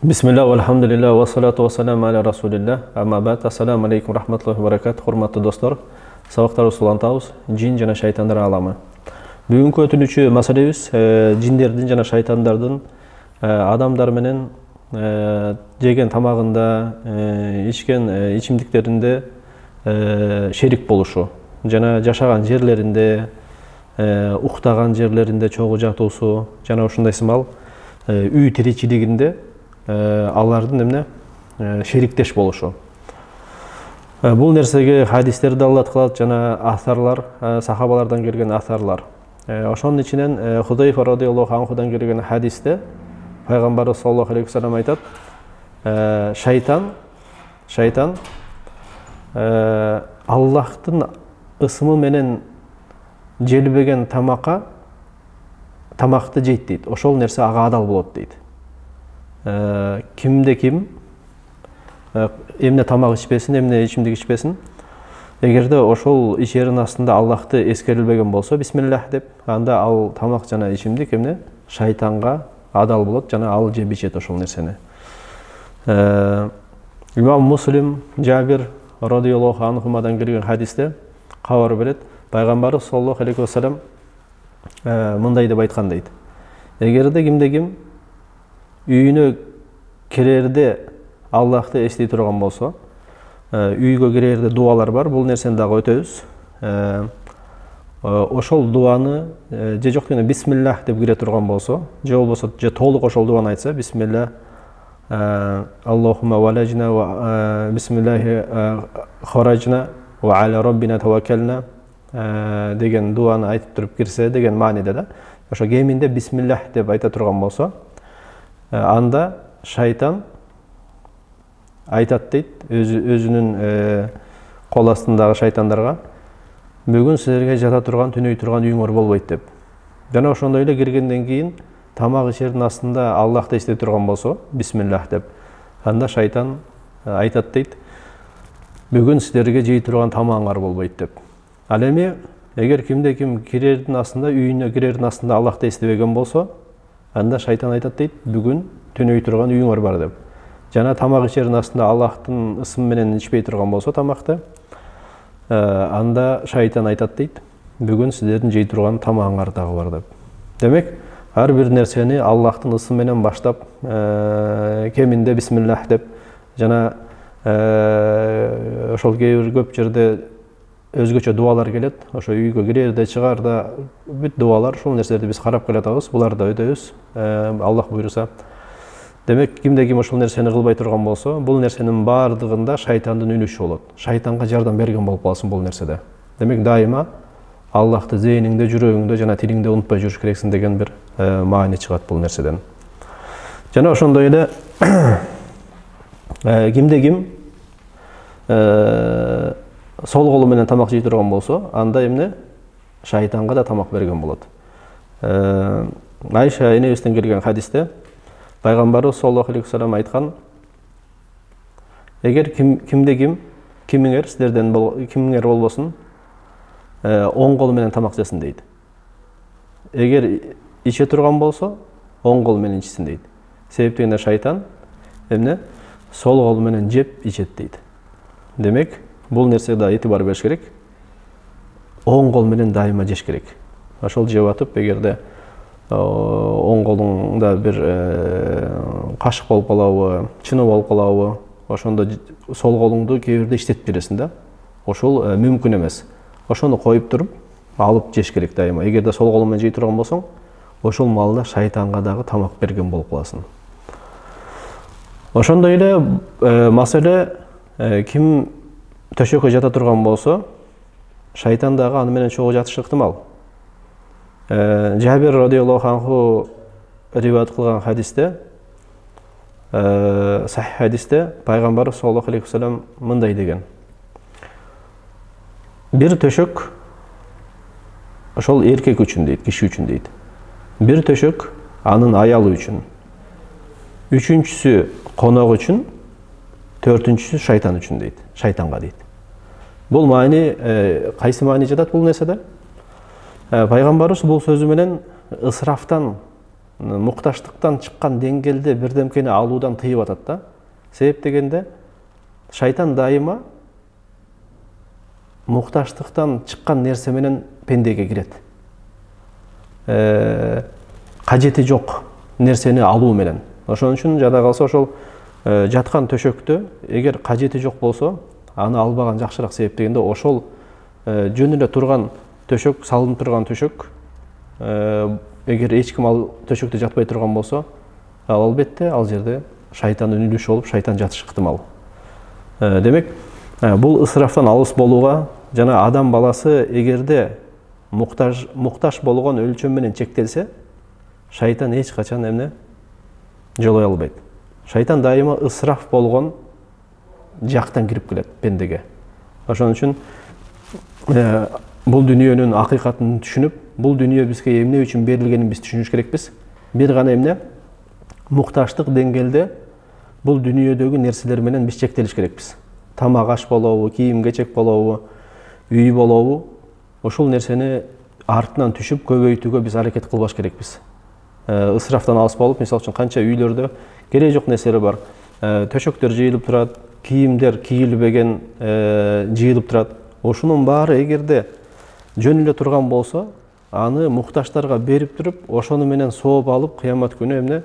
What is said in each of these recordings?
Бисмилlah, алхамдулилlah, ва салату ва салам аля расулилlah. Amma ba'd. Assalamu alaikum rahmatullohi va barakatuh. Hurmatli do'stlar, sabaqlarыбыз улантабыз. Жин жана шайтандар аламы. Бүгүнкү өтүнүүчү маселебиз жиндердин жана шайтандардын адамдар менен жеген тамагында, ичкен ичимдиктеринде шерик болушу жана жашаган жерлеринде, уктаган жерлеринде чогуу жатуусу жана ушундай сымал үй тиричилигинде алардын эмне шериктеш болушу. Бул нерсеге хадистер далилат кылат жана асарлар, сахабалардан келген асарлар. Ошонун ичинен Худайфа радыйаллаху анхудан келген хадисте пайгамбарыбыз саллаллаху алейхи вассалам айтат: шайтан Аллахтын ысымы менен желбеген тамакты жейт дейт. Ошол нерсе ага адал болот дейт. Кимде ким эмне тамак ичпесин, эмне ичимдик ичпесин, эгерде ошол ичерин астында Аллахты эскерилбеген болсо, бисмиллах деп, анда ал тамак жана ичимдик эмне шайтанга адал болот жана ал жеп ичет ошол нерсени. Имам Муслим Жабир радыйаллаху анхумадан келген хадисте кабар берет, пайгамбарыбыз саллаллаху алейхи вассалам мындай деп айткан дейт: эгерде кимде ким үйүнө кирерде Аллахты эстей турган болсо, үйгө кирерде дуалар бар, бул нерсени дагы өтөбүз. Ошол дуаны же жок дегенде бисмиллах деп кире турган болсо, же болбосо же толук ошол дуаны айтса, бисмиллах Аллахумма валажна ва бисмиллахи харажна ва аля роббина таваккална деген дуаны айтып туруп кирсе деген мааниде да. Ошо кеминде бисмиллах деп айта турган болсо, анда шайтан айтат дейт өзүнүн кол астындагы шайтандарга: бүгүн силерге жата турган, түнөй турган үйүңөр болбойт деп. Жана ошондой эле киргенден кийин тамак ичердин астында Аллахты эстей турган болсо, бисмиллах деп, анда шайтан айтат дейт: бүгүн силерге жей турган тамагыңар болбойт деп. Ал эми эгер кимде ким кирердин астында, үйүнө кирердин астында Аллахты эстебеген болсо, анда шайтан айтат дейт: бүгүн түнөй турган үйүңөр бар деп. Жана тамак ичердин астында Аллахтын ысымы менен ичпей турган болсо тамакты, анда шайтан айтат дейт: бүгүн силердин жей турган тамагыңар дагы бар деп. Демек, ар бир нерсени Аллахтын ысымы менен баштап, кеминде бисмиллах деп, жана ошол көп жерде өзгөчө дуалар келет. Ошо үйгө кирерде, чыгарда бүт дуалар, ушул нерселерди биз карап келатабыз, буларды да өтөбүз, Аллах буйруса. Демек, кимде ким ошол нерсени кылбай турган болсо, бул нерсенин баардыгында шайтандын үлүшү болот. Шайтанга жардам берген болуп каласың бул нерседе. Демек, дайыма Аллахты зээниңде, жүрөгүңдө жана тилиңде унутпай жүрүш керексиң деген бир маани чыгат бул нерседен. Жана ошондой эле кимде ким сол колу менен тамак жей турган болсо, анда эмне шайтанга да тамак берген болот. Айша энебизден келген хадисте пайгамбарыбыз саллаллаху алейхи вассалам айткан: эгер кимде ким, кимиңер силерден кимиңер болбосун, оң колу менен тамак жесин дейт. Эгер иче турган болсо, оң колу менен ичсин дейт. Себеп дегенде шайтан эмне сол колу менен жеп ичет дейт. Демек, бул нерсеге да этибар бериш керек. Оң кол менен дайыма жеш керек. Ошол жеп атып, эгерде оң колуңда бир кашык болуп калабы, чыны болуп калабы, ошондо сол колуңду кээ бирде иштетип бересиң да. Ошол мүмкүн эмес. Ошону коюп туруп, алып жеш керек дайыма. Эгерде сол колуң менен жей турган болсоң, ошол маалда шайтанга дагы тамак берген болуп каласың. Ошондой эле маселе ким төшөккө жата турган болсо, шайтан дагы аны менен чогуу жатышы ыктымал. Жабир радыйаллаху анху риваят кылган хадисте, сахих хадисте пайгамбарыбыз саллаллаху алейхи вассалам мындай деген: бир төшөк ошол эркек үчүн дейт, киши үчүн дейт. Бир төшөк анын аялы үчүн. Үчүнчүсү конок үчүн, төртүнчүсү шайтан үчүн дейт, шайтанга дейт. Бул маани кайсы маани жатат бул нерседе? Пайгамбарыбыз бул сөзү менен ысрафтан мукташтыктан чыккан деңгээлде бирдемкени алуудан тыйып атат да. Себеп дегенде шайтан дайыма мукташтыктан чыккан нерсе менен пендеге кирет. Кажети жок нерсени алуу менен. Ошон үчүн жада калса ошол жаткан төшөктө эгер кажети жок болсо, аны албаган жакшыраак. Себеп дегенде ошол жөн эле турган төшөк, салынып турган төшөк, эгер эч ким ал төшөктө жатпай турган болсо, албетте ал жерде шайтан үнүлүш болуп, шайтан жатышы ыктымал. Демек, бул ысырафтан алыс болууга жана адам баласы эгерде муктаж болгон өлчөм менен чектелсе, шайтан эч качан эмне жолой албайт. Шайтан дайыма ысыраф болгон жактан кирип келет пендеге. Ошон үчүн бул дүйнөнүн акыйкатын түшүнүп, бул дүйнө бизге эмне үчүн берилгенин биз түшүнүш керекпиз. Бир гана эмне мукташтык деңгээлде бул дүйнөдөгү нерселер менен биз чектелиш керекпиз. Тамак аш болобу, кийим-кечек болобу, үй болобу, ошол нерсени артынан түшүп көбөйтүүгө биз аракет кылбаш керекпиз. Ысырафтан алыс болуп, мисалы үчүн канча үйлөрдө кереги жок нерселер бар. Төшөктөр жыйылып турат, кийимдер кийилбеген жыйылып турат. Ошонун баары эгерде жөн эле турган болсо, аны мукташтарга берип туруп, ошону менен сооп алып, кыямат күнү эмне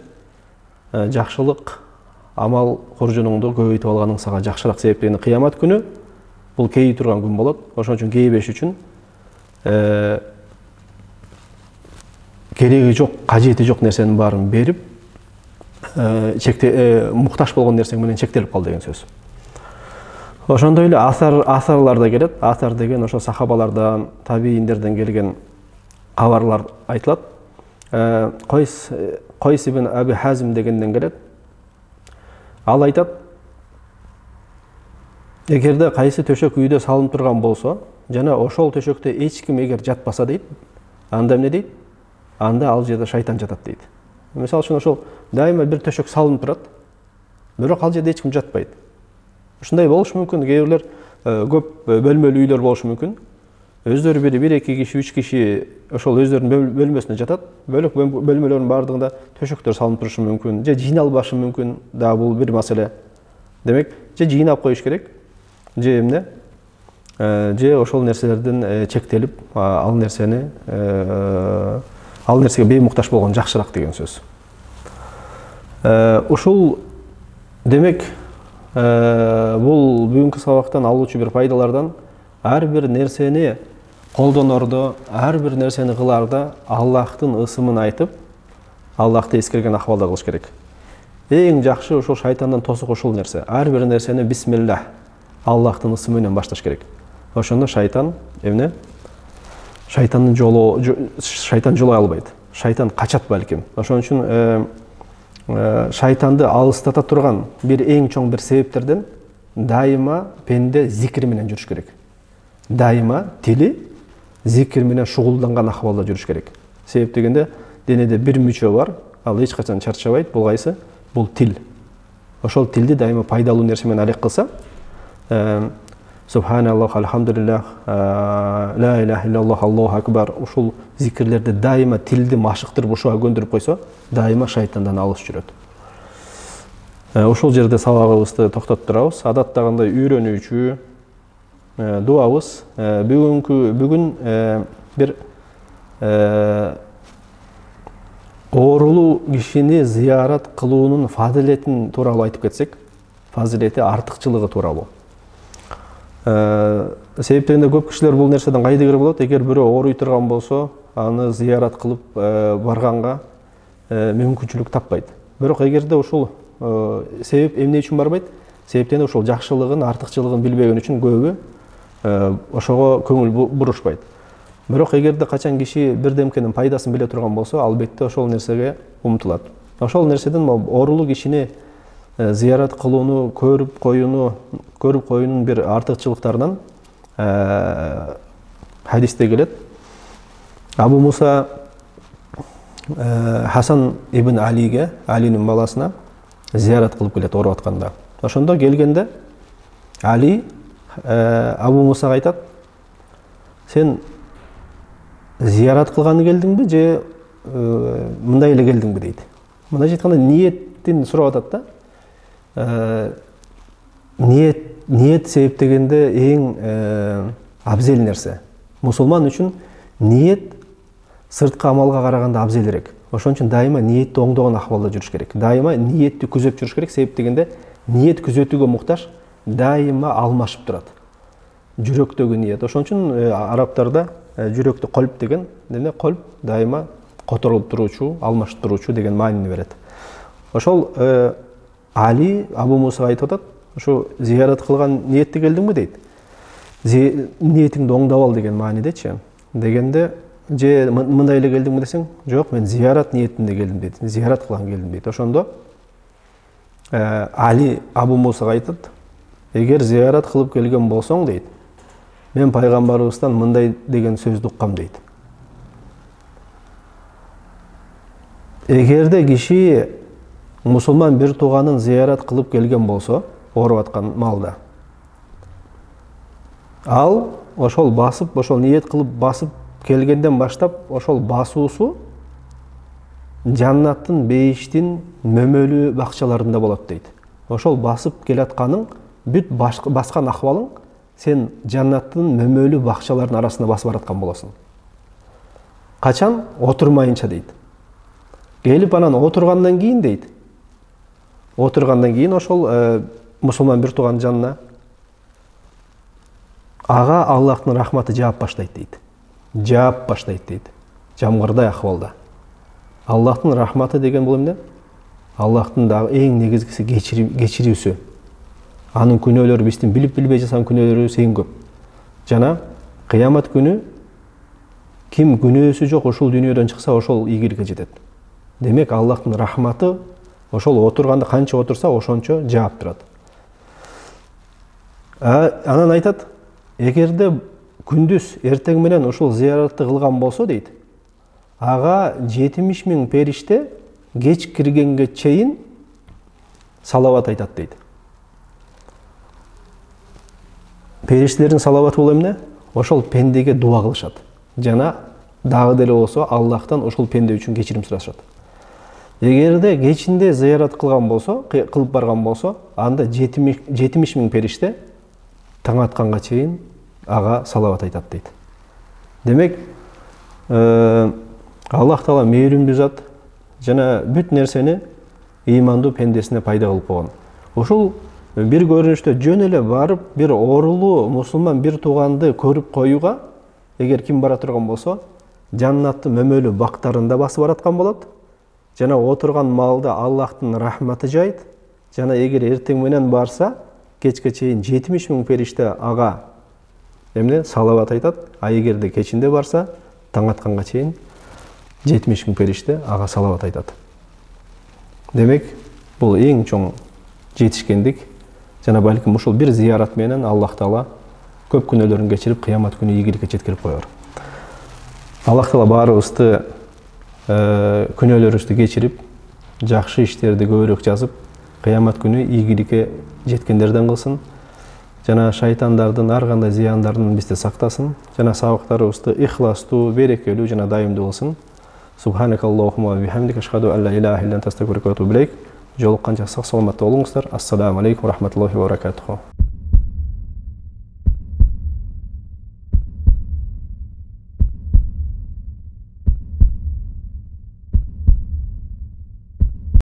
жакшылык амал коржонуңду көбөйтүп алганың сага жакшыраак. Себеп дегенде кыямат күнү бул кейи турган күн болот. Ошон үчүн кейбеш үчүн кереги жок, кажети жок нерсенин баарын берип, мукташ болгон нерсең менен чектелип кал деген сөз. Ошондой эле асарларда келет. Асар деген ошо сахабалардан, табииндерден келген кабарлар айтылат. Койс ибн Аби Хазим дегенден келет. Ал айтат, эгерде кайсы төшөк үйдө салынып турган болсо, жана ошол төшөктө эч ким эгер жатпаса дейт, анда эмне дейт? Анда ал жерде шайтан жатат дейт. Мисалы үчүн ошол дайыма бир төшөк салынып турат, бирок ал жерде эч ким жатпайт. Ушундай болушу мүмкүн. Кээ бирлер көп бөлмөлүү үйлөр болушу мүмкүн. Өздөрү бир эки киши, үч киши ошол өздөрүнүн бөлмөсүндө жатат. Бөлөк бөлмөлөрдүн баардыгында төшөктөр салынып турушу мүмкүн, же жыйналбашы мүмкүн. Да бул бир маселе. Демек, же жыйнап коюш керек, же эмне? Же ошол нерселерден чектелип, ал нерсеге беймукташ болгон жакшыраак деген сөз. Ушул демек бул бүгүнкү сабактан алуучу бир пайдалардан ар бир нерсени колдонордо, ар бир нерсени кыларда Аллахтын ысымын айтып, Аллахты эскерген акыбалда кылыш керек. Эң жакшы ошол шайтандан тосук ушул нерсе. Ар бир нерсени бисмиллах, Аллахтын ысымы менен башташ керек. Ошондо шайтан эмне? Шайтан жолой албайт. Шайтан качат балким. Ошон үчүн шайтанды алыстата турган бир эң чоң бир себептерден дайыма пенде зикир менен жүрүш керек. Дайыма тили зикир менен шугулданган акыбалда жүрүш керек. Себеп дегенде денеде бир мүчө бар, ал эч качан чарчабайт. Бул кайсы? Бул тил. Ошол тилди дайыма пайдалуу нерсе менен алек кылса, Субханаллах, алхамдулиллах, ла илаха иллаллах, Аллаху акбар. Ушул зикирлерди дайыма тилди машыктырып ушуга көндүрүп койсо, дайыма шайтандан алыс жүрөт. Ушул жерде сабагыбызды токтотуп турабыз. Адаттагындай үйрөнүүчү дуабыз бүгүн бир оорулуу кишини зыярат кылуунун фазилетин тууралуу айтып кетсек, фазилети артыкчылыгы тууралуу. Себеп дегенде көп кишилер бул нерседен кайдыгер болот. Эгер бирөө ооруй турган болсо, аны зыярат кылып барганга мүмкүнчүлүк таппайт. Бирок эгерде ушул себеп эмне үчүн барбайт? Себеп дегенде ушул жакшылыгын, артыкчылыгын билбеген үчүн көбү ошого көңүл бурушпайт. Бирок эгерде качан киши бирдемкенин пайдасын биле турган болсо, албетте ошол нерсеге умтулат. Ошол нерседен оорулуу кишини зыярат кылууну, көрүп коюунун бир артыкчылыктарынан хадисте келет. Абу Муса Хасан ибн Алиге, Алинин баласына зыярат кылып келет ооруп атканда. Ошондо келгенде Али Абу Мусага айтат: "Сен зыярат кылганы келдиңби же мындай эле келдиңби дейт. Мындайча айтканда ниеттин сурап атат да. Ниет себептегенде эң абзел нерсе. Мусулман үчүн ниет сырткы амалга караганда абзелирээк. Ошон үчүн дайыма ниетти оңдогон акыбалда жүрүш керек. Дайыма ниетти күзөп жүрүш керек. Себеп дегенде ниет күзөтүүгө муктаж, дайыма алмашып турат. Жүрөктөгү ниет. Ошон үчүн арабтарда жүрөктө калп деген, калп дайыма которулуп туруучу, алмашып туруучу деген маанини берет. Ошол Али Абу Мусага айтып атат, ошо зиярат кылган ниетти келдиңби дейт. Ниетиңди оңдоп ал деген маанидечи. Дегенде же мындай эле келдиңби десең, жок, мен зиярат ниетинде келдим дейт. Зиярат кылган келдим дейт. Ошондо Али Абу Мусага айтат, эгер зиярат кылып келген болсоң дейт, мен пайгамбарыбыздан мындай деген сөздү уккам дейт. Эгерде киши мусулман бир тууганын зиярат кылып келген болсо, ооруп аткан маалда, ал ошол басып, ошол ниет кылып басып келгенден баштап, ошол басуусу жаннаттын бейиштин мөмөлүү бакчаларында болот дейт. Ошол басып келатканың бүт баскан акыбалың сен жаннаттын мөмөлүү бакчаларынын арасында басып бараткан болосуң. Качан? Отурмайынча дейт. Келип анан отургандан кийин дейт. Отургандан кийин ошол мусулман бир тууганын жанына ага Аллахтын рахматы жаап баштайт дейт. Жаап баштайт дейт. Жамгырдай акыбалда. Аллахтын рахматы деген бул эмне? Аллахтын дагы эң негизгиси кечирүүсү. Анын күнөөлөрү биздин билип билбей жасаган күнөөлөрүбүз эң көп. Жана кыямат күнү ким күнөөсү жок ушул дүйнөдөн чыкса, ошол ийгиликке жетет. Демек Аллахтын рахматы ошол отурганда канча отурса, ошончо жаап турат. Анан айтат, эгерде күндүз эртең менен ушул зияратты кылган болсо дейт, ага 70 000 периште кеч киргенге чейин салават айтат дейт. Периштелердин салаваты бул эмне? Ошол пендеге дуа кылышат. Жана дагы деле болсо Аллахтан ошол пенде үчүн кечирим сурашат. Эгерде кечинде зиярат кылган болсо, кылып барган болсо, анда 70 000 периште таң атканга чейин ага салават айтат дейт. Демек, Аллах Таала мээримдүү зат, жана бүт нерсени ыймандуу пендесине пайда кылып койгон. Ушул бир көрүнүштө жөн эле барып, бир оорулуу мусулман бир тууганды көрүп коюуга, эгер ким бара турган болсо, жаннаттын мөмөлүү бактарында басып бараткан болот. Жана отурган маалда Аллахтын рахматы жайт. Жана эгер эртең менен барса, кечке чейин 70 000 периште ага салават айтат. А эгерде кечинде барса, таң атканга чейин 70 000 периште ага салават айтат. Демек, бул эң чоң жетишкендик. Жана балким ушул бир зиярат менен Аллах Таала көп күнөөлөрүн кечирип, кыямат күнү ийгиликке жеткирип коёр. Аллах Таала баарыбызды күнөөлөрүбүздү кечирип, жакшы иштерди көбүрөөк жазып, кыямат күнү ийгиликке жеткендерден кылсын. Жана шайтандардын ар кандай зыяндарынан бизди сактасын. Жана сабактарыбызды ихластуу, берекелүү жана дайымдуу кылсын. Субханакаллахумма ва бихамдика ашхаду ан ла илаха илля анта астагфирука ва атубу илейк. Жолукканча сак саламатта болуңуздар. Ассаламу алейкум ва рахматуллахи ва баракатуху.